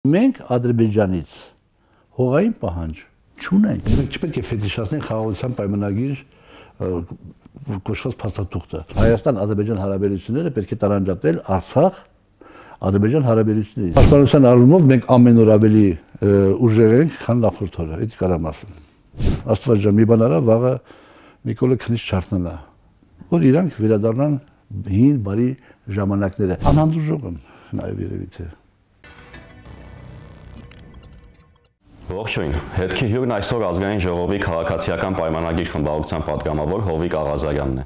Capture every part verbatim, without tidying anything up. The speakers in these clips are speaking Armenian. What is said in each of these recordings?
Մենք Ադրբեջանից հողային պահանջ չունենք։ Մենք չպետք է ֆետիշացնենք խաղաղության պայմանագիր կոչված փաստաթուղթը։ Հայաստան-Ադրբեջան հարաբերությունները պետք է տարանջատել Արցախ Ադրբեջան հարաբերություններից։ Պաշտպանության առումով մենք ամեն օր ավելի ուժեղ ենք, քան նախորդ օրը, դա կարամ ասեմ։ Աստված ջան, մի բան արա, վաղը Նիկոլը քնից չարթնանա, որ իրանք վերադառնան հին բարի ժամանակները։ Անհանդուրժող եմ նաև երևի թե։ Ողջույն, հետքի հյուրն այսօր ազգային ժողովի քաղաքացիական պայմանագիր խմբակցության պատգամավոր Հովիկ Աղազարյանն է։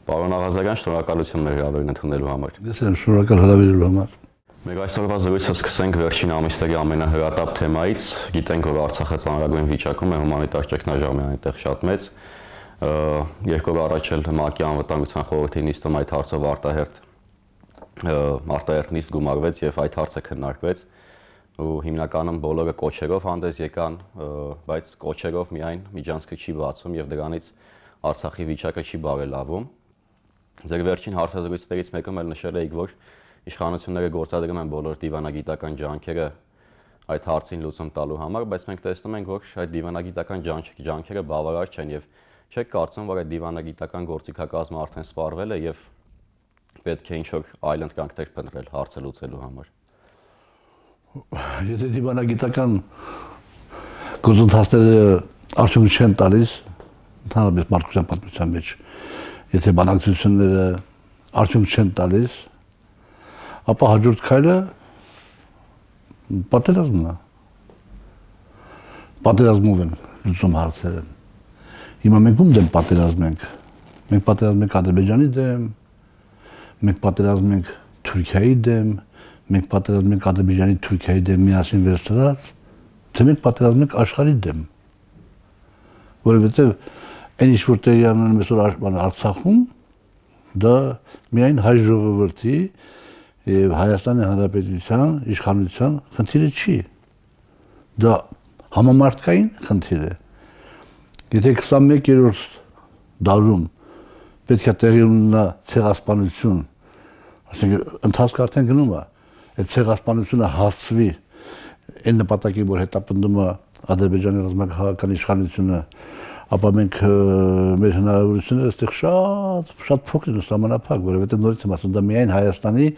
Պարոն Աղազարյան, շնորհակալություն մեր հրավերն ընդունելու համար։ Ես եմ շնորհակալ հրավերելու համար։ Մեր այսօրվա զրույցը սկսենք վերջին ամիսների ամենահրատապ թեմայից։ Գիտենք, որ Արցախը ծանրագույն վիճակում է, հումանիտար ճգնաժամը այնտեղ շատ մեծ։ Երկու օր առաջ էլ ՄԱԿ-ի անվտանգության խորհրդի նիստում այդ հարցով արտահերթ արտահերթ նիստ գումարվեց եւ այդ հարցը քննարկվեց։ Ու հիմնականում բոլորը կոչերով հանդես եկան, բայց կոչերով միայն միջանցքը չի բացվում եւ դրանից Արցախի վիճակը չի բարելավում։ Ձեր վերջին հարցազրույցներից մեկում էլ նշել եք, որ իշխանությունները գործադրում են բոլոր դիվանագիտական ջանքերը այդ հարցին լուծում տալու համար, բայց մենք տեսնում ենք, որ այդ դիվանագիտական ջանքերը բավարար չեն եւ չեք կարծում, որ այդ դիվանագիտական գործիքակազմը արդեն սպառվել է եւ պետք է ինչ-որ այլ ընտրանքներ փնտրել հարցը լուծելու համար։ Եթե դիվանագիտական գործընթացները արդյունք չեն տալիս, ընդհանրապես մարդկության պատմության մեջ, եթե բանակցությունները արդյունք չեն տալիս, ապա հաջորդ քայլը պատերազմն է։ Պատերազմով են լուծում հարցերը։ Հիմա մենք ում դեմ պատերազմ ենք։ Մենք պատերազմ ենք Ադրբեջանի դեմ, մենք պատերազմ ենք Թուրքիայի դեմ, մենք պատերազմ ենք Ադրբեջանի Թուրքիայի դեմ միասին վերցրած, թե մենք պատերազմ ենք աշխարհի դեմ։ Որովհետև այն ինչ որ տեղի ունենում այսօր Արցախում, դա միայն հայ ժողովրդի եւ Հայաստանի Հանրապետության իշխանության խնդիրը չի։ Դա համամարտկային խնդիր է։ Եթե քսանմեկերորդ դարում պետք է տեղի ունենա ցեղասպանություն, ասենք ընթացքը արդեն գնում է, այդ ցեղասպանությունը հասցվի այն նպատակի, որ հետապնդում է Ադրբեջանի ռազմաքաղաքական իշխանությունը, ապա մենք մեր հնարավորությունները այստեղ շատ շատ փոքր են սահմանափակ, որովհետև նորից եմ ասում, դա միայն Հայաստանի,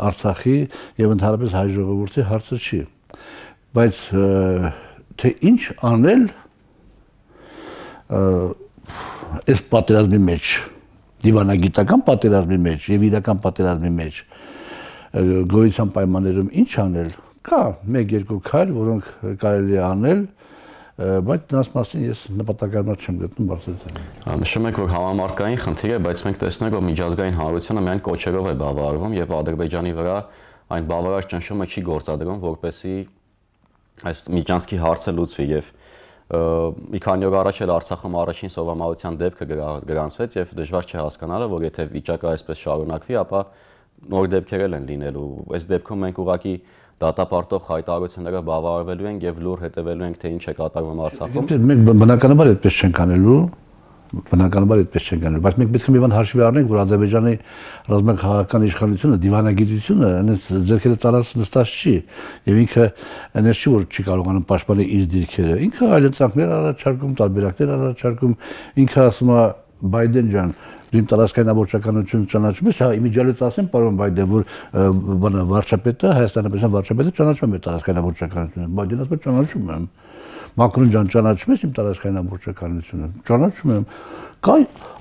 Արցախի եւ ընդհանրապես հայ ժողովրդի հարցը չի։ Բայց թե ինչ անել այս պատերազմի մեջ, դիվանագիտական պատերազմի մեջ եւ իրական պատերազմի մեջ գոյության պայմաններում ինչ անել, կա մեկ-երկու քայլ, որոնք կարելի է անել, բայց դրանց մասին ես նպատակարար չեմ գտնում բարձրացնել։ Նշում եք, որ համամարտկային խնդիր է, բայց մենք տեսնում ենք, որ միջազգային հանրությունը միայն կոչերով է բավարարվում եւ Ադրբեջանի վրա այն բավարար ճնշումը չի գործադրում, որպեսզի այս միջանցքի հարցը լուծվի եւ մի քանի օր առաջ էլ Արցախում առաջին սովամահության դեպքը գրանցվեց եւ դժվար չէ հասկանալը, որ եթե վիճակը այսպես շարունակվի, ապա նոր դեպքեր են լինելու։ Այս դեպքում մենք ուղղակի դատապարտող հայտարարությունները բավարարվելու են եւ լուր հետևելու ենք, թե ինչ է կատարվում Արցախում։ Մենք բնականաբար այդպես չենք անելու, բնականաբար այդպես չենք անելու, բայց մենք պետք է մի բան հաշվի առնենք, որ Ադրբեջանի ռազմաքաղաքական իշխանությունը, դիվանագիտությունը այնպես ձեռքերը ծալած նստած չի եւ ինքը այնպես չի, որ չի կարողանում պաշտպանել իր դիրքերը։ Ինքը այլ ընտրանքներ առաջարկում, տարբերակներ առաջարկում, ինքը ասում է Բայդեն ջան, դու իմ տարածքային ամբողջականությունը ճանաչում ես, հա, իմիջիալից ասեմ, պարոն Բայդեն, որ բանը վարչապետը, Հայաստանի Հանրապետության վարչապետը ճանաչում է տարածքային ամբողջականությունը։ Բայդենը ասում է ճանաչում եմ։ Մակրոն ջան, ճանաչում ես իմ տարածքային ամբողջականությունը։ Ճանաչում եմ։ Կա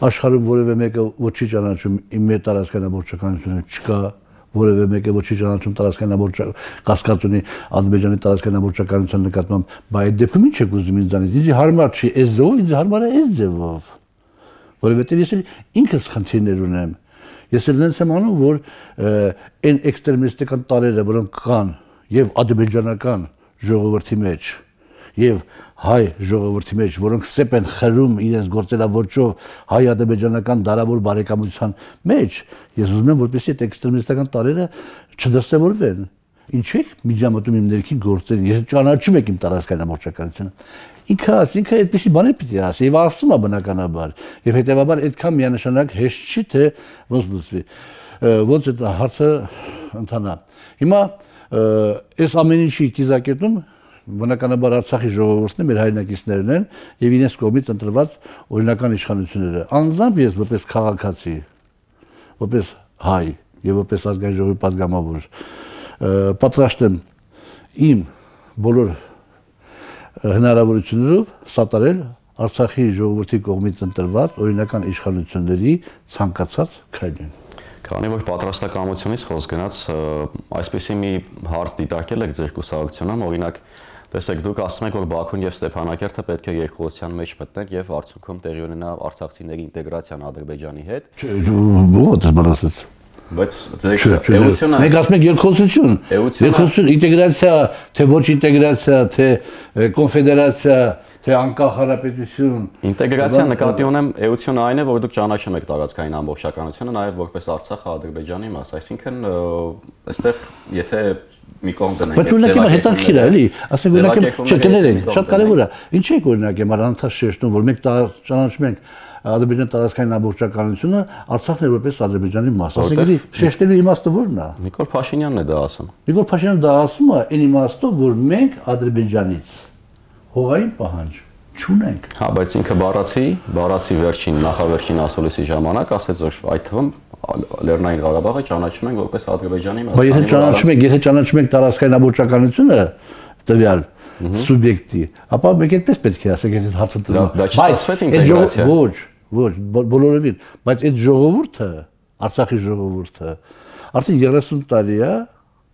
աշխարհում որևէ մեկը ոչ չի ճանաչում իմ մեր տարածքային ամբողջականությունը, չկա որևէ մեկը ոչ չի ճանաչում տարածքային ամբողջ կասկած ունի Ադրբեջանի տարածքային ամբողջականության նկատմամբ, բայց այդ դեպքում ինչ եք ուզում ինձանից։ Ինձ հարմար չի այս ձևով, ինձ հարմար է այս ձևով։ Որովհետև ես ինքս խնդիրներ ունեմ։ Ես էլ նենց եմ անում, որ այն էքստրեմիստական տարրերը, որոնք կան եւ ադրբեջանական ժողովրդի մեջ, եւ հայ ժողովրդի մեջ, որոնք սեպ են խրում իրենց գործելավոճով հայ-ադրբեջանական դարավոր բարեկամության մեջ, ես ուզում եմ, որպեսզի այդ էքստրեմիստական տարրերը չդրսևորվեն։ Ինչու եք միջամտում իմ ներքին գործերին, ես ճանաչում եք իմ տարածքային ամբողջականությունը։ Ինքը ինքը այդպեսի բաներ պիտի ասի եւ ասում է բնականաբար եւ հետեւաբար այդքան միանշանակ հեշտ չի թե ոնց լուծվի ոնց այդ հարցը ընթանա։ Հիմա Այս ամեն ինչի կիզակետում բնականաբար Արցախի ժողովուրդն է, մեր հայրենակիցներն են եւ իրենց կողմից ընտրված օրինական իշխանությունները։ Անձամբ ես որպես քաղաքացի, որպես հայ եւ որպես ազգային ժողովի պատգամավոր պատրաստ եմ իմ բոլոր հնարավորություններով սատարել Արցախի ժողովրդի կողմից ընտրված օրինական իշխանությունների ցանկացած քայլին։ Քանի որ պատրաստակամությունից խոսք գնաց, այսպեսի մի հարց դիտարկել եք ձեր կուսակցությունում, օրինակ, տեսեք, դուք ասում եք, որ Բաքուն եւ Ստեփանակերտը պետք է երկխոսության մեջ մտնեն եւ արդյունքում տեղի ունենա արցախցիների ինտեգրացիան Ադրբեջանի հետ։ Ո՞ւր ես բանացած։ Բայց ձեր էությունը մենք ասում ենք երկխոսություն, երկխոսություն, ինտեգրացիա, թե ոչ ինտեգրացիա, թե կոնֆեդերացիա, թե անկախ հանրապետություն։ Ինտեգրացիա նկատի ունեմ, էությունը այն է, որ դուք ճանաչում եք տարածքային ամբողջականությունը, նաև որպես Արցախը Ադրբեջանի մաս, այսինքն այստեղ եթե մի կողմ դնենք, բայց օրինակ իմ հետաքրքիր է, էլի, ասենք օրինակ չկներենք, շատ կարևոր է։ Ինչ եք օրինակ եմ առանցած շեշտում, որ մենք ճանաչում ենք Ադրբեջանի տարածքային ամբողջականությունը, Արցախն է որպես Ադրբեջանի մաս։ Ասենք էլի շեշտելու իմաստը ո՞րն է։ Նիկոլ Փաշինյանն է դա ասում։ Նիկոլ Փաշինյանը դա ասում է այն իմաստով, որ մենք Ադրբեջանից հողային պահանջ չունենք։ Հա, բայց ինքը բառացի, բառացի վերջին նախավերջին ասուլիսի ժամանակ ասեց, որ այդ թվում Լեռնային Ղարաբաղը ճանաչում են որպես Ադրբեջանի մաս։ Բայց եթե ճանաչում ենք, եթե ճանաչում ենք տարածքային ամբողջականությունը տվյալ սուբյեկտի, ապա մենք այդպես պետք է ասենք, եթե հարցը տրվում։ Բայց ստացվեց ինտեգրացիա։ Ոչ, ոչ, բոլորովին, բայց այդ ժողովուրդը, Արցախի ժողովուրդը, արդեն երեսուն տարի է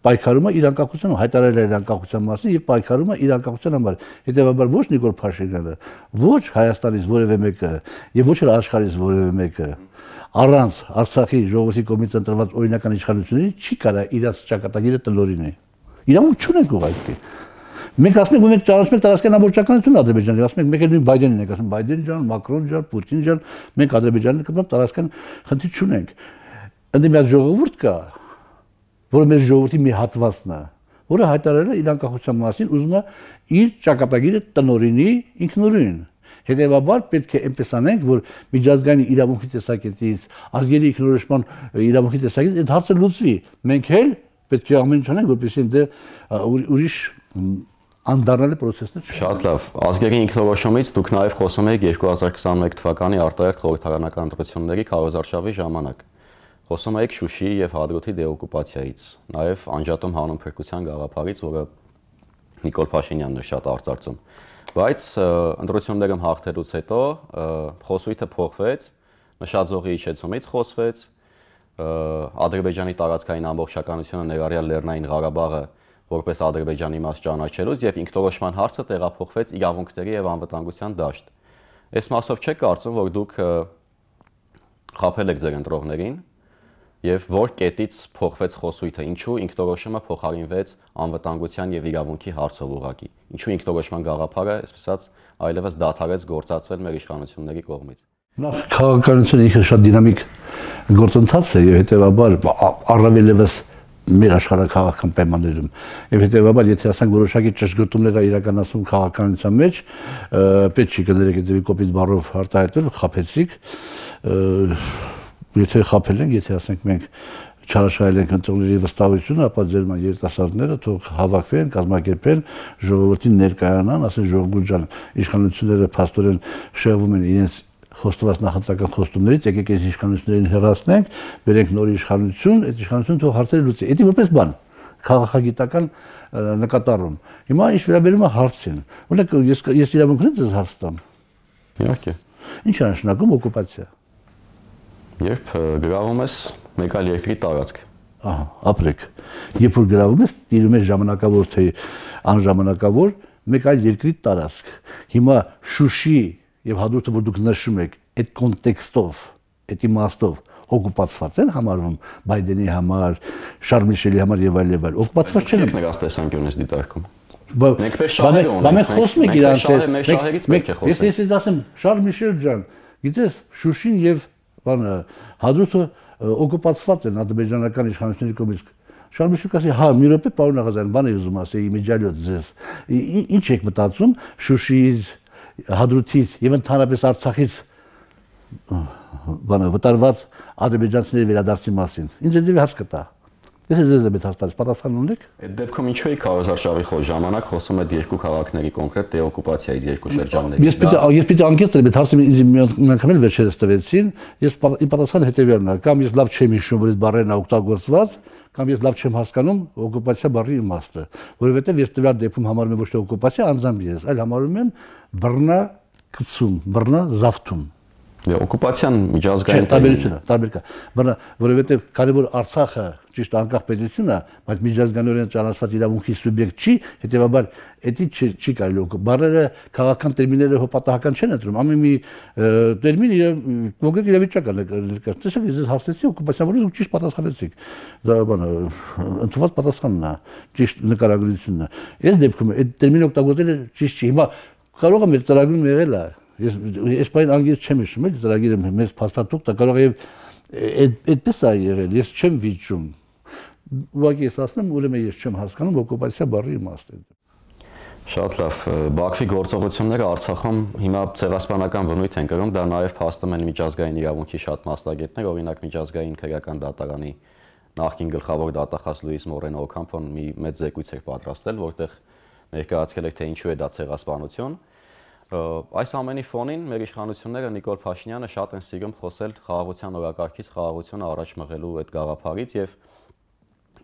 պայքարում է իր անկախության, հայտարարել է իր անկախության մասին եւ պայքարում է իր անկախության համար։ Հետեւաբար ոչ Նիկոլ Փաշինյանը, ոչ Հայաստանից որևէ մեկը եւ ոչ էլ աշխարհից որևէ մեկը առանց Արցախի ժողովրդի կողմից ընտրված օրինական իշխանությունների չի կարա իրաց ճակատագիրը տնօրինի։ Իրավունք չունենք ուղղակի։ Մենք ասում ենք, որ մենք ճանաչում ենք տարածքային ամբողջականությունը Ադրբեջանի, ասում ենք, մեկ էլ նույն Բայդենին ենք ասում, Բայդեն ջան, Մակրոն ջան, Պուտին ջան, մենք Ադրբեջանի կողմից տարածքային խնդիր չունենք։ Ընդ մի հատ ժողովուրդ կա, որը մեր ժողովրդի մի հատվածն է, որը հայտարարել է իր անկախության մասին, ուզում է իր ճակատագիրը տնօրինի ինքնուրույն։ Հետևաբար պետք է այնպես անենք, որ միջազգային իրավունքի տեսակետից, ազգերի ինքնորոշման իրավունքի տեսակետից այդ հարցը լուծվի։ Մենք էլ պետք է ամեն ինչ անենք, որպեսզի դե ուրիշ անդառնալի process-ներ չկա։ Շատ լավ։ Ազգերի ինքնորոշումից դուք նաև խոսում եք երկու հազար քսաներեք թվականի արտահերթ խորհրդարանական ընտրությունների քարոզարշավի ժամանակ։ Խոսում եք Շուշիի եւ Հադրութի դեօկուպացիայից, նաև անջատում հանուն փրկության գաղափարից, որը Նիկոլ Փաշինյանն էր շատ արծարծում։ Բայց ընտրություններում հաղթելուց հետո խոսույթը փոխվեց, նշաձողի իջեցումից խոսվեց, Ադրբեջանի տարածքային ամբողջականությունը ներառյալ Լեռնային Ղարաբաղը որպես Ադրբեջանի մաս ճանաչելուց եւ ինքնորոշման հարցը տեղափոխվեց իրավունքների եւ անվտանգության դաշտ։ Այս մասով չեք կարծում, որ դուք խաբել եք ձեր ընտրողներին եւ որ կետից փոխվեց խոսույթը, ինչու ինքնորոշումը փոխարինվեց անվտանգության եւ իրավունքի հարցով ուղղակի։ Ինչու ինքնորոշման գաղափարը, այսպես ասած, այլևս դադարեց գործածվել մեր իշխանությունների կողմից։ Նախ քաղաքականությունը ինքը շատ դինամիկ գործընթաց է եւ հետեւաբար առավելևս մեր աշխարհակաղակական պայմաններում եւ հետեւաբար եթե ասենք որոշակի ճշգրտումներ է իրականացում քաղաքականության մեջ, պետք չի կներեք դեպի կոպիտ բառով արտահայտել, խափեցիք, եթե խափել ենք, եթե ասենք մենք չարաշահել ենք ընտրողների վստահությունը, ապա ձեր երիտասարդները թող հավաքվեն, կազմակերպեն, ժողովրդին ներկայանան, ասեն ժողովուրդ ջան, իշխանությունները փաստորեն շեղվում են իրենց խոստված նախընտրական խոստումներից, եկեք այս իշխանություններին հեռացնենք, բերենք նոր իշխանություն, այդ իշխանությունը թող հարցերը լուծի։ Դա որպես բան, քաղաքագիտական նկատառում։ Հիմա ինչ վերաբերում է հարցին։ Օրինակ ես ես իրավունք ունեմ ձեզ հարց տամ։ Իհարկե։ Ինչ է նշանակում օկուպացիա։ Երբ գրավում ես մեկ այլ երկրի տարածք։ Ահա, ապրեք։ Երբ որ գրավում ես, տիրում ես ժամանակավոր թե անժամանակավոր մեկ այլ երկրի տարածք։ Հիմա Շուշի եւ Հադրութը, որ դուք նշում եք, այդ կոնտեքստով, այդ իմաստով օկուպացված են համարվում Բայդենի համար, Շարլ Միշելի համար եւ այլ եւ այլ։ Օկուպացված չեն։ Նրանց տեսանկյունից դիտարկում։ Մենք պես շահեր ունենք։ Մենք խոսում ենք իրանց հետ։ Մենք ես ես ասեմ Շարլ Միշել ջան, գիտես Շուշին եւ բանը Հադրութը օկուպացված են ադրբեջանական իշխանությունների կողմից։ Շարլ Միշելը ասի, հա, մի րոպե, պարոն Աղազարյան, բան եմ ուզում ասել, իմիջիալիոտ ձեզ։ Ինչ եք մտածում Շուշիից, Հադրութից եւ ընդհանրապես Արցախից բանը վտարված ադրբեջանցիների վերադարձի մասին։ Ինձ դեպի հարց կտա։ Ես ձեզ եմ հարցնում, պատասխան ունեք։ Այդ դեպքում ինչու է քարոզարշավի խոր ժամանակ խոսում է երկու քաղաքների կոնկրետ դեօկուպացիայից երկու շրջանների։ Ես պիտի ես պիտի անկեղծ եմ, այդ հարցը միանգամել վերջերս տվեցին, ես պատասխանը հետևյալն է, կամ ես լավ չեմ հիշում, որ այդ բառերն օգտագործված, կամ ես լավ չեմ հասկանում օկուպացիա բառի իմաստը, որովհետև ես տվյալ դեպքում համարում եմ ոչ թե օկուպացիա, անձամբ ես, այլ համարում եմ բռնակցում, բռնազավթում։ Օկուպացիան միջազգային տարբերություն է, տարբեր կա, որովհետև կարևոր Արցախը ճիշտ անկախ պետություն է, բայց միջազգայինորեն ճանաչված իրավունքի սուբյեկտ չի, հետևաբար էդի չի կարելի օկուպ։ Բառերը քաղաքական տերմինները հոպատահական չեն ընտրում, ամեն մի տերմին կոնկրետ իրավիճակ է ներկայացնում։ Տեսեք, ես հասցեցի օկուպացիան, որից դուք ճիշտ պատասխանեցիք։ Դա բանը ընդունված պատասխանն է, ճիշտ նկարագրությունն է։ Այս դեպքում այդ տերմինը օգտագործելը ճիշտ չի։ Հիմա կարող է մեր ծրագրում եղել է Ես ես բան անգից չեմ հիշում, էլի ծրագիրը մեծ փաստաթուղթ է, կարող է այդպես է եղել, ես չեմ վիճում։ Ուղղակի ես ասում եմ, ուրեմն ես չեմ հասկանում օկուպացիա բառի իմաստը։ Շատ լավ, Բաքվի գործողությունները Արցախում հիմա ցեղասպանական բնույթ են կրում, դա նաև փաստում են միջազգային իրավունքի շատ մասնագետներ, օրինակ միջազգային քրեական դատարանի նախկին գլխավոր դատախազ Լուիս Մորենո Օքամփոն մի մեծ զեկույց էր պատրաստել, որտեղ ներկայացրել էր, թե ինչու է դա ցեղասպանություն։ Այս ամենի ֆոնին մեր իշխանությունները Նիկոլ Փաշինյանը շատ են սիրում խոսել խաղաղության օրակարգից, խաղաղությունը առաջ մղելու այդ գաղափարից եւ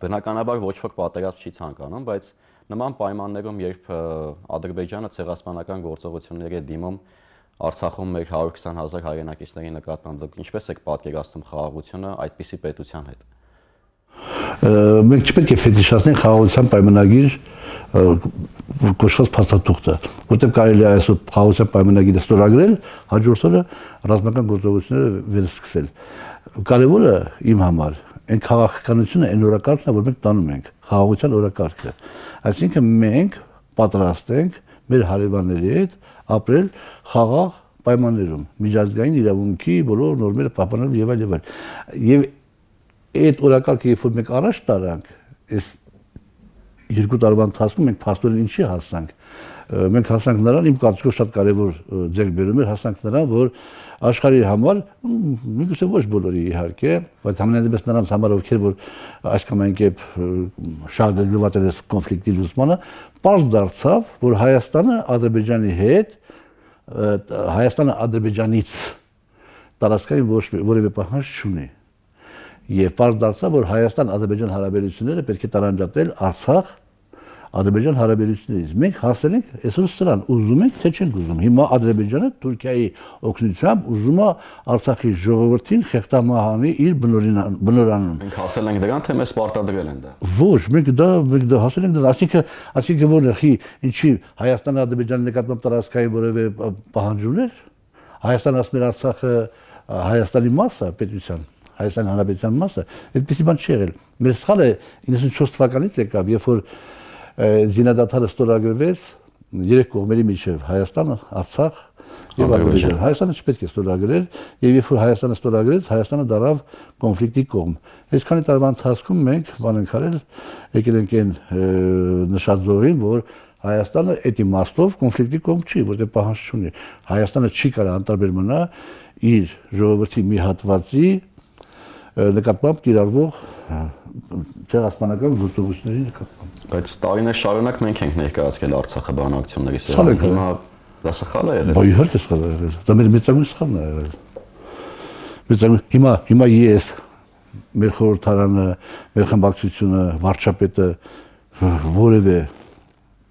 բնականաբար ոչ ոք պատերազմ չի ցանկանում, բայց նման պայմաններում, երբ Ադրբեջանը ցեղասպանական գործողությունների է դիմում Արցախում մեր հարյուր քսան հազար հայրենակիցների նկատմամբ, դուք ինչպես եք պատկերացնում խաղաղությունը այդպիսի պետության հետ։ Մենք չպետք է ֆետիշացնենք խաղաղության պայմանագիր կոչված փաստաթուղթը, որտեղ կարելի է այսօր խաղաղության պայմանագիրը ստորագրել, հաջորդ օրը ռազմական գործողությունները վերսկսել։ Կարևորը իմ համար այն քաղաքականությունը, այն օրակարգն է, որ մենք տանում ենք, խաղաղության օրակարգը։ Այսինքն մենք պատրաստ ենք մեր հարևանների հետ ապրել խաղաղ պայմաններում, միջազգային իրավունքի բոլոր նորմերը պահպանելով եւ այլ եւ այլ։ Եվ այդ օրակարգը, երբ որ մենք առաջ տարանք, այս երկու տարվա ընթացքում մենք փաստորեն ինչի հասանք։ Մենք հասանք նրան, իմ կարծիքով շատ կարևոր ձեռքբերում էր, հասանք նրան, որ աշխարհի համար, միգուցե ոչ բոլորի իհարկե, բայց համենայնդեպս նրանց համար, ովքեր որ այս կամ այն կերպ շահագրգռված են այս կոնֆլիկտի լուծմանը, պարզ դարձավ, որ Հայաստանը Ադրբեջանի հետ, Հայաստանը Ադրբեջանից տարածքային ոչ որևէ պահանջ չունի։ Եվ պարզ դարձավ, որ Հայաստան-Ադրբեջան հարաբերությունները պետք է տարանջատել Արցախ Ադրբեջան հարաբերություններից։ Մենք հասել ենք այսօր սրան, ուզում ենք, թե չենք ուզում։ Հիմա Ադրբեջանը Թուրքիայի օգնությամբ ուզում է Արցախի ժողովրդին խեղդամահանի իր բնորանում։ Մենք հասել ենք դրան, թե մեզ պարտադրել են դա։ Ոչ, մենք դա մենք դա հասել ենք դրան, ասիկա, ասիկա որն է, խի, ինչի Հայաստան-Ադրբեջանի նկատմամբ տարածքային որևէ պահանջ ուներ։ Հայաստանը ասում էր Արցախը Հայաստանի մաս է, պետության Հայաստանի Հանրապետության մասը, այդպեսի բան չի եղել։ Մեր սխալը իննսունչորս թվականից եկավ, երբ որ զինադադարը ստորագրվեց երեք կողմերի միջև Հայաստանը, Արցախ եւ Ադրբեջան։ Հայաստանը չպետք է ստորագրեր, եւ երբ որ Հայաստանը ստորագրեց, Հայաստանը դարավ կոնֆլիկտի կողմ։ Այսքանի տարվա ընթացքում մենք բան ենք արել, եկել ենք այն նշած զորին, որ Հայաստանը այդ իմաստով կոնֆլիկտի կողմ չի, որտեղ պահանջ չունի։ Հայաստանը չի կարող անտարբեր մնա իր ժողովրդի մի հատվածի նկատմամբ կիրառվող ցեղասպանական գործողությունների նկատմամբ։ Բայց տարիներ շարունակ մենք ենք ներկայացրել Արցախը բանակցությունների սեղանին։ Հիմա դա սխալ է եղել։ Բա իհարկե սխալ է եղել։ Դա մեր մեծագույն սխալն է եղել։ Մեծագույն հիմա հիմա ես մեր խորհրդարանը, մեր խմբակցությունը, վարչապետը որևէ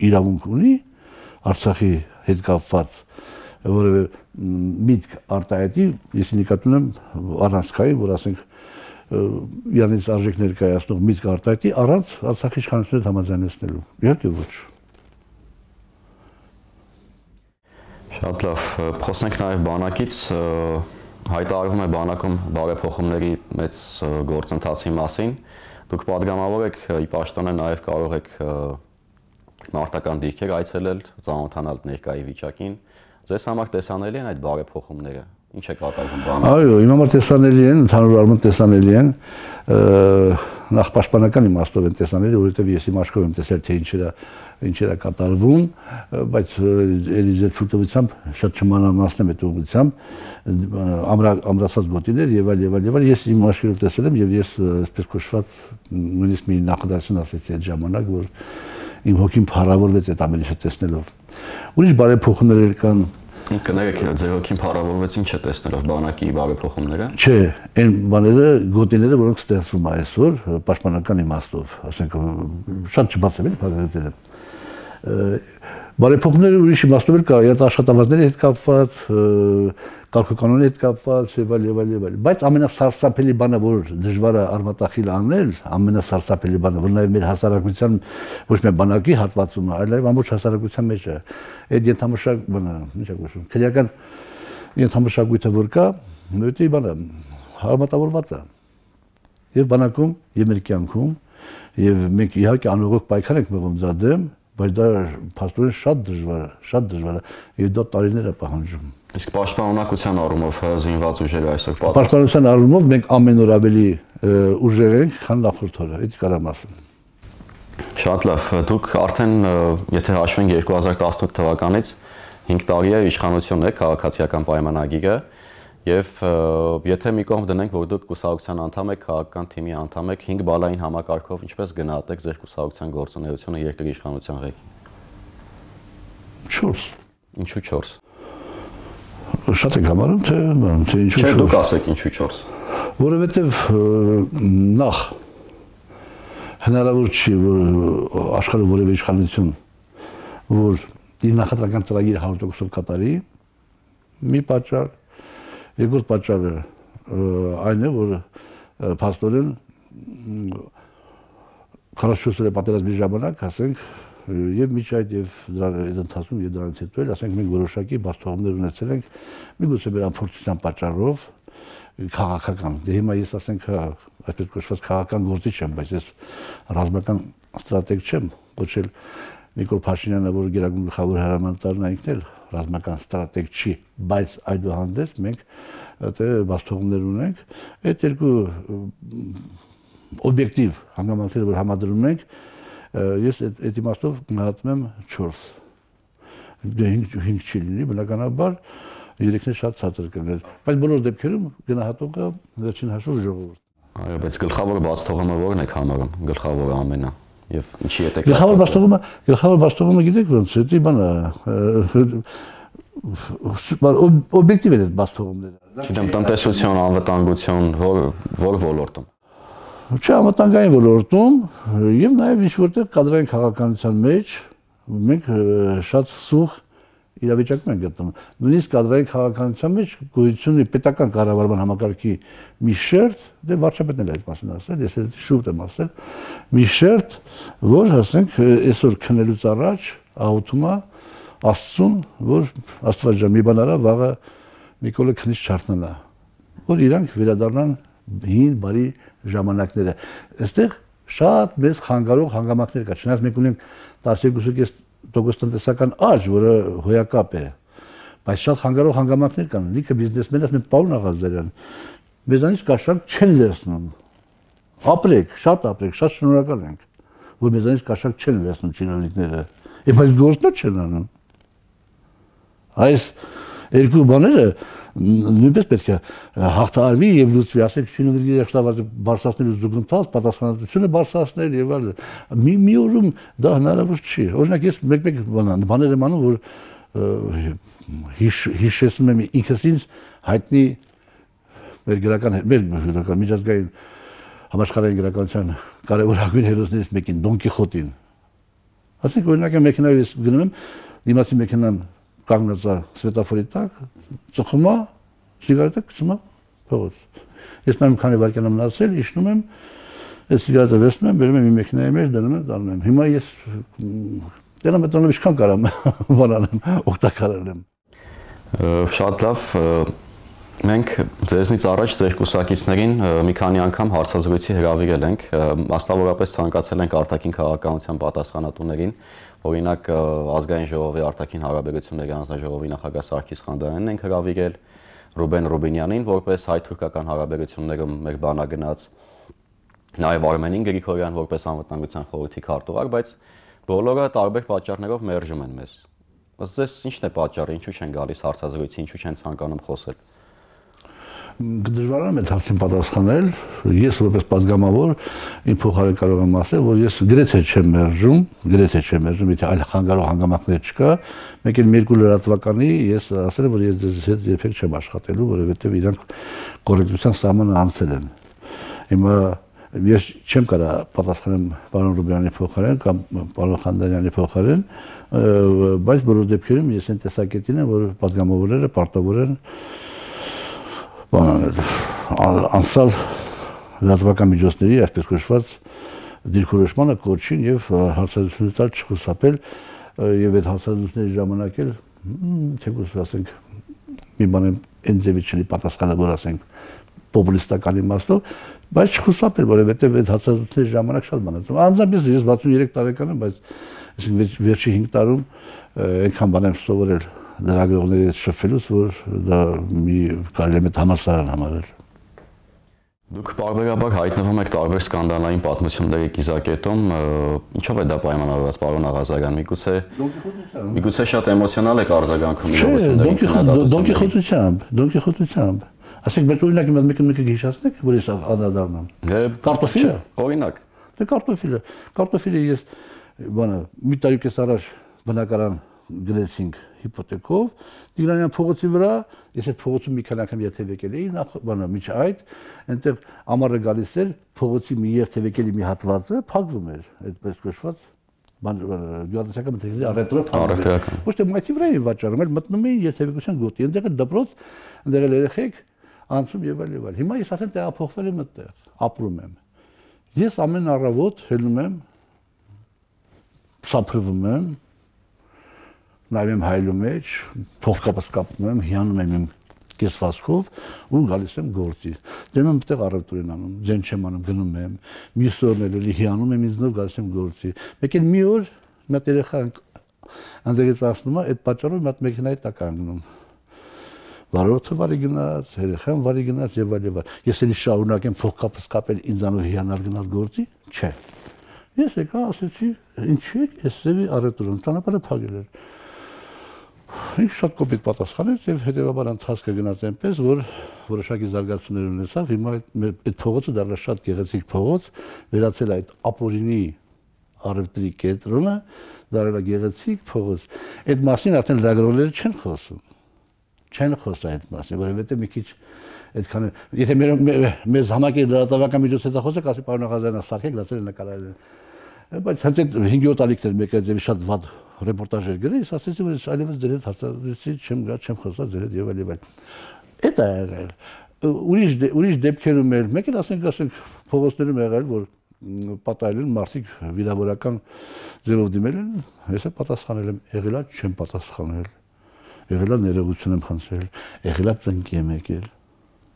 իրավունք ունի Արցախի հետ կապված որևէ միտք արտահայտի, ես նկատում եմ առանցքային, որ ասենք իրանից արժեք ներկայացնող միտք արտահայտի առանց Արցախի իշխանությունների համաձայնեցնելու։ Իհարկե ոչ։ Շատ լավ, խոսենք նաև բանակից, հայտարարվում է բանակում բարեփոխումների մեծ գործընթացի մասին։ Դուք պատգամավոր եք, ի պաշտոնե նաև կարող եք մարտական դիրքեր այցելել, ծանոթանալ ներկայի վիճակին։ Ձեզ համար տեսանելի են այդ բարեփոխումները։ Ինչ է կատարվում բանակում։ Այո, իմ համար տեսանելի են, ընդհանուր առմամբ տեսանելի են։ նախ պաշտպանական իմաստով են տեսանել, որովհետև ես իմ աչքով եմ տեսել, թե ինչեր ինչեր է կատարվում, բայց էլի ձեր ցույցությամբ շատ չմանրամասնեմ այդ ուղղությամբ ամրացած գոտիներ եւ այլ եւ այլ եւ այլ ես իմ աչքերով տեսել եմ եւ ես այսպես կոչված նույնիսկ մի նախադասություն ասեցի այդ ժամանակ, որ իմ հոգին փառավորվեց այդ ամեն ինչը տեսնելով։ Ուրիշ բարեփոխումներ կան Կներեք, ձեր հոգին փառավորվեց ինչ է տեսնելով բանակի բարեփոխումները։ Չէ, այն բաները, գոտիները, որոնք ստեղծվում է այսօր պաշտպանական իմաստով, ասենք շատ չբացեմ էլի փառատները։ Բարեփոխումները ուրիշ իմաստով էլ կա, այդ աշխատավարձների հետ կապված, կարգուկանոնի հետ կապված եւ այլ եւ այլ եւ այլ։ Բայց ամենասարսափելի բանը, որ դժվար է արմատախիլ անել, ամենասարսափելի բանը, որ նաեւ մեր հասարակության ոչ միայն բանակի հատվածում է, այլ նաեւ ամբողջ հասարակության մեջ է։ Այդ ենթամշակ բանը, ինչ է կոչվում, քրեական ենթամշակույթը որ կա, նույնիսկ բանը հարմատավորված է։ Եվ բանակում, եւ մեր կյանքում, եւ մենք իհարկե անողոք պայքար ենք մղում դրա դեմ, բայց դա փաստորեն շատ դժվար է, շատ դժվար է, եւ դա տարիներ է պահանջում։ Իսկ պաշտպանողության առումով զինված ուժերը այսօր պատասխան։ Պաշտպանության առումով մենք ամեն օր ավելի ուժեղ ենք, քան նախորդ օրը, դա կարամ ասեմ։ Շատ լավ, դուք արդեն եթե հաշվենք երկու հազար տասնութ թվականից հինգ տարի է իշխանություն եք, քաղաքացիական պայմանագիրը, եւ եթե մի կողմ դնենք, որ դուք կուսակցության անդամ եք, քաղաքական թիմի անդամ եք, հինգ բալային համակարգով ինչպես գնահատեք ձեր կուսակցության գործունեությունը երկրի իշխանության ղեկին։ չորս։ Ինչու չորս։ Շատ եք համարում, թե թե ինչու չորս։ Չէ, դուք ասեք ինչու չորս։ Որովհետեւ նախ հնարավոր չի, որ աշխարհի որևէ իշխանություն, որ իր նախընտրական ծրագիրը հարյուր տոկոսով կատարի, մի պատճառ, երկրորդ պատճառը այն է, որ փաստորեն քառասունչորս օրյա պատերազմի ժամանակ, ասենք, եւ միջ այդ եւ դրա ընթացքում եւ դրանից հետո էլ, ասենք, մենք որոշակի բացթողումներ ունեցել ենք, միգուցե մեր անփորձության պատճառով քաղաքական։ Դե հիմա ես ասենք, այսպես կոչված քաղաքական գործիչ եմ, բայց ես ռազմական ստրատեգ չեմ, ոչ էլ Նիկոլ Փաշինյանը, որ գերագույն գլխավոր հրամանատարն է, ինքն էլ ռազմական ստրատեգ չի, բայց այդուհանդերձ մենք դե բացթողումներ ունենք, այդ երկու օբյեկտիվ հանգամանքները, որ համադրում ենք, ես այդ իմաստով գնահատում եմ չորս։ Դե հինգ չի լինի, բնականաբար երեքն է շատ ցածր կներ, բայց բոլոր դեպքերում գնահատողը վերջին հաշվով ժողովուրդն է։ Այո, բայց գլխավոր բացթողումը ո՞րն եք համարում, գլխավորը ամենը։ Եվ ինչի հետ եք։ Գլխավոր բացթողումը, գլխավոր բացթողումը գիտեք ոնց է, դա բանը օբյեկտիվ է այդ բացթողումները։ Չգիտեմ, տնտեսություն, անվտանգություն, որ որ ոլորտում։ Չէ, անվտանգային ոլորտում եւ նաեւ ինչ որտեղ կադրային քաղաքականության մեջ մենք շատ սուղ իրավիճակում են գտնվում։ Նույնիսկ կադրային քաղաքականության մեջ գոյություն ունի պետական կառավարման համակարգի մի շերտ, դե վարչապետն էլ այդ մասին ասել, ես էլ շուտ եմ ասել, մի շերտ, որ ասենք այսօր քնելուց առաջ աղոթում է Աստծուն, որ Աստված ջան մի բան արա, վաղը Նիկոլը քնից չարթնանա, որ իրանք վերադառնան հին բարի ժամանակները։ Այստեղ շատ մեծ խանգարող հանգամանքներ կա, չնայած մենք ունենք տասներկու տոկոս տնտեսական աճ, որը հոյակապ է, բայց շատ խանգարող հանգամանքներ կան, լիքը բիզնեսմեններ, ասում են Պարոն Աղազարյան, մեզանից կաշառք չեն վերցնում, ապրեք, շատ ապրեք, շատ շնորհակալ ենք, որ մեզանից կաշառք չեն վերցնում չինովնիկները, բայց գործներ չեն անում։ Այս երկու բաները նույնպես պետք է հաղթահարվի եւ լուծվի, ասենք շինովնիկների աշխատավարձը բարձրացնելու զուգընթաց, պատասխանատվությունը բարձրացնել եւ այլն։ Մի մի օրում դա հնարավոր չի։ Օրինակ ես մեկ-մեկ բաներ եմ անում, որ հիշեցնում եմ ինքս ինձ հայտնի մեր գրական մեր գրական միջազգային համաշխարհային գրականության կարևորագույն հերոսներից մեկին Դոն Կիխոտին։ Ասենք օրինակ մեքենայով ես գնում եմ, դիմացի մեքենան կանգնած է սվետաֆորի տակ, ծխում է, սիգարետը գցում է փողոց։ Ես նայում քանի վայրկյան եմ մնացել, իջնում եմ, այս սիգարետը վերցնում եմ, բերում եմ իմ մեքենայի մեջ, դնում եմ, դառնում եմ։ Հիմա ես դեռ մտնում ինչքան կարամ բանանեմ, օգտակարել եմ։ Շատ լավ, մենք ձեզնից առաջ ձեր կուսակիցներին մի քանի անգամ հարցազրույցի հրավիրել ենք, մասնավորապես ցանկացել ենք արտաքին քաղաքականության պատասխանատուներին, օրինակ ազգային ժողովի արտաքին հարաբերությունների հանձնաժողովի նախագահ Սարգիս Խանդոյանին ենք հրավիրել, Ռուբեն Ռուբինյանին, որպես հայ-թուրքական հարաբերություններում մեր բանագնաց, Նաև Արմենին Գրիգորյան որպես անվտանգության խորհրդի քարտուղար, բայց բոլորը տարբեր պատճառներով մերժում են մեզ։ Ըստ ձեզ ի՞նչն է պատճառը, ինչու չեն գալիս հարցազրույցի, ինչու չեն ցանկանում խոսել։ Դժվար է այդ հարցին պատասխանել։ Ես որպես падգամավոր իմ փոխարեն կարող եմ ասել, որ ես գրեթե չեմ մերժում, գրեթե չեմ մերժում, եթե այլ խանգարող հանգամանքներ չկա, մեկ էլ մի երկու լրատվականի ես ասել եմ, որ ես ձեզ հետ երբեք չեմ աշխատելու, որովհետև իրանք կոռեկտության սահմանը անցել են։ Հիմա ես չեմ կարող պատասխանել պարոն Ռուբյանի փոխարեն կամ պարոն Խանդարյանի փոխարեն, բայց բոլոր դեպքերում ես այն տեսակետին եմ, որ падգամավորները պարտավոր են անցալ լրատվական միջոցների, այսպես կոչված դիրքորոշմանը կոչին եւ հարցազրույցի տալ չխուսափել եւ այդ հարցազրույցների ժամանակ էլ թեկուզ ասենք մի բան այն ձևից չի պատասխանել, որ ասենք պոպուլիստական իմաստով, բայց չխուսափել, որովհետեւ այդ հարցազրույցների ժամանակ շատ բան է։ Անձամբ ես վաթսունյոթ տարեկան եմ, բայց այսինքն վերջի հինգ տարում այնքան բան եմ սովորել լրագրողների հետ շփվելուց, որ դա մի կարելի է համալսարան համարել։ Դուք բարբերաբար հայտնվում եք տարբեր սկանդալային պատմությունների կիզակետում, ինչով է դա պայմանավորված, պարոն Աղազարյան, միգուցե միգուցե շատ էմոցիոնալ եք արձագանքում իրողություններին։ Դոնկիխոտությամբ, դոնկիխոտությամբ։ Ասենք մեկ օրինակ իմ մեկը հիշացնեք, որ ես անդրադառնամ։ Կարտոֆիլը։ Օրինակ։ Դե կարտոֆիլը, կարտոֆիլը ես բանը մի տարի կես առաջ բնակարան գրեցինք հիպոթեկով, Տիգրանյան փողոցի վրա, ես այդ փողոցում մի քանի անգամ երթևեկել էի, նախ բանը միջ այդ, այնտեղ ամառը գալիս էր, փողոցի մի երթևեկելի մի հատվածը փակվում էր, այդպես կոչված, բան գյուղատնտեսական մթերքների առևտրը փակվում էր։ Ոչ թե մայթի վրա էին վաճառում, այլ մտնում էին երթևեկության գոտի, այնտեղ էլ դպրոց, այնտեղ էլ երեխեք անցում եւ այլ եւ այլ։ Հիմա ես ասեմ տեղափոխվել եմ այդտեղ, ապրում եմ։ Ես ամեն առավոտ հելնում եմ, սափրվում եմ, նայում եմ հայլու մեջ, փողկապս կապում եմ, հիանում եմ իմ կեսվածքով ու գալիս եմ գործի։ Դեմ եմ այդտեղ առևտուր են անում, ձեն չեմ անում, գնում եմ, մյուս օրն էլ հիանում եմ ինձնով գալիս եմ գործի։ Մեկ էլ մի օր մի հատ երեխա այնտեղից ասնում է, այդ պատճառով մի հատ մեքենայի տակ անգնում։ Վարորդը վարի գնաց, երեխան վարի գնաց եւ այլ եւ այլ։ Ես էլի շարունակեմ փողկապս կապել ինձանով հիանալ գնալ գործի, չէ։ Ես եկա ասեցի, ինչի՞ էս ծեվի առևտուրում, ճանապարհը փակել էր։ Ինձ շատ կոպիտ պատասխանեց եւ հետեւաբար ընթացքը գնաց այնպես, որ որոշակի զարգացումներ ունեցավ։ Հիմա այդ փողոցը դառնա շատ գեղեցիկ փողոց, վերացել այդ ապօրինի առևտրի կենտրոնը, դարձել է գեղեցիկ փողոց։ Այդ մասին արդեն լրագրողները չեն խոսում։ Չեն խոսա այդ մասին, որովհետեւ մի քիչ այդքան եթե մեզ համակի լրատվական միջոցից խոսեք, ասի պարոն Աղազարյանը սարքեք, լացել նկարել։ Բայց հենց այդ հինգ-յոթ ալիքներ մեկը ձևի շատ վատ ռեպորտաժեր գրի, ես ասեցի, որ ես այլևս ձեր հետ հարցազրույցի չեմ գա, չեմ խոսա ձեր հետ եւ այլ եւ այլ։ Էդ է եղել։ Ուրիշ ուրիշ դեպքերում էլ, մեկ էլ ասենք, ասենք փողոցներում եղել, որ պատահել են մարդիկ վիրավորական ձևով դիմել են, ես է պատասխանել եմ, եղելա չեմ պատասխանել։ Եղելա ներողություն եմ խնդրել, եղելա ծնկի եմ եկել։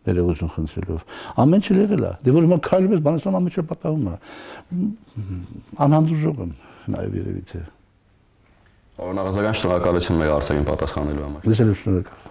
Ներողություն խնդրելով։ Ամեն ինչ եղել է։ Դե որ հիմա քայլում ես, բանաստան ամեն ինչ պատահում է։ Անհանդուրժող եմ նաև երևի թե։ Պարոն Աղազարյան, շնորհակալություն մեր հարցերին պատասխանելու համար։ Ես էլ շնորհակալ եմ։